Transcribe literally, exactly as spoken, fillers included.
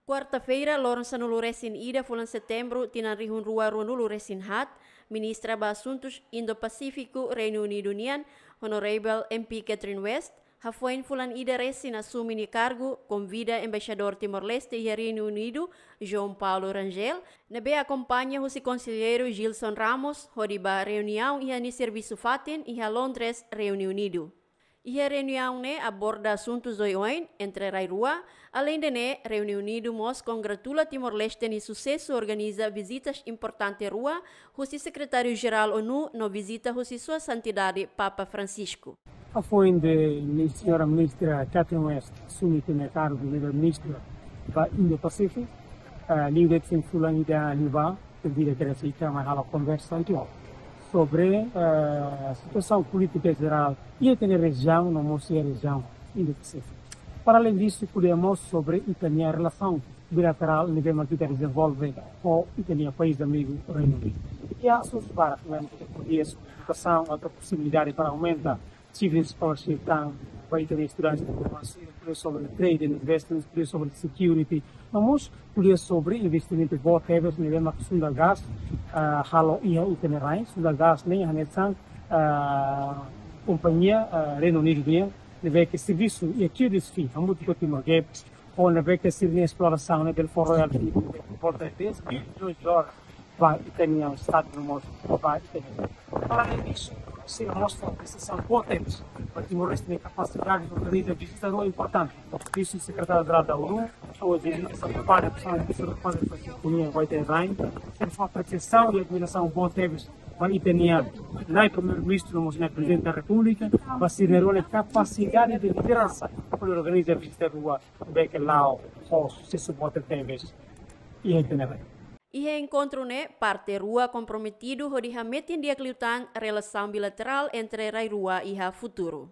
Kuarta-feira, loron sanulu-resin-ida fulan Setembru, tinan rihun rua ruanulu-resin-haat, Ministra ba Asuntus Indo-Pasífiku Reinu Unidu nian, Honorable M P Catherine West, hafoin fulan ida resin asume nia kargu, konvida Embaixadór Timor-Leste iha Reinu Unidu, João Paulo Rangel, ne'ebé akompaña husi Konselleiru Gilson Ramos, hodi ba reuniaun iha nia servisu fatin iha Londres, Reinu Unidu. Iha reuniaun ne'e aborda asuntus oioin entre rai rua. Aleinde ne'e, Reinu Unidu mós kongratula Timor-Leste nia susesu organiza vizitas importante rua, husi Sekretáriu-Jerál ONU no vizita husi Sua Santidade Papa Francisco. Hafoin de mi-, señora Ministra Catherine West asume nia kargu de Ministra ba Indo-Pasífiku, ah, liu de'it fulan ida liubá, konvida kedas ita mai halo konversa entaun sobre, eh, situasaun polítika jerál iha ita-nia rejiaun, no mós iha rejiaun Indo-Pasífiku. Para além disso, ko'alia mós sobre ita-nia relasaun bilaterál ne'ebé mak ita dezenvolve ho ita-nia país amigu Reinu Unidu. I asuntus barak, ne'e ita ko'alia sobre edukasaun, atu posibilidade para aumenta children scholarship tan ba ita-nia estudante, ko'alia sobre trade and investment, ko'alia sobre security, no mós ko'alia sobre investimentu boot tebes ne'ebé mak Sundagas, ah, halo iha ita-nia rain. Sundagas ne'e hanesan, ah, kompañia, ah, Reinu Unidu nian, ne'ebé ke servisu iha Q D S P, hamutuk ho Timor Gap, ho ne'ebé ke sira-nia esplorasaun ne'e bele fó royalty boot dez bilhões de dólares ba ita-nia estadu no mós ba ita-nia. Para além disso, sira mostra apresiasaun boot tebes ba Timor-Leste nia kapasidade de organiza vizita rua importante. Vice-Secretário-Geral da ONU, ou vizita Santa Pátria, pessoal de Santa Pátria, para a companhia vai ter rain. Sira fó apresiasaun i admirasaun boot tebes ba ita-nia nai Primeiru-Ministru, no mós nai Prezidente da Repúblika, ba sira-nia kapasidade de lideransa, hodi organiza vizita rua, ne'ebé ke la'o ho susesu boot tebes iha ita-nia rain. Iha enkontru ne'e, parte rua komprometidu hodi hametin di'ak liután relasaun bilaterál entre rai rua iha futuru.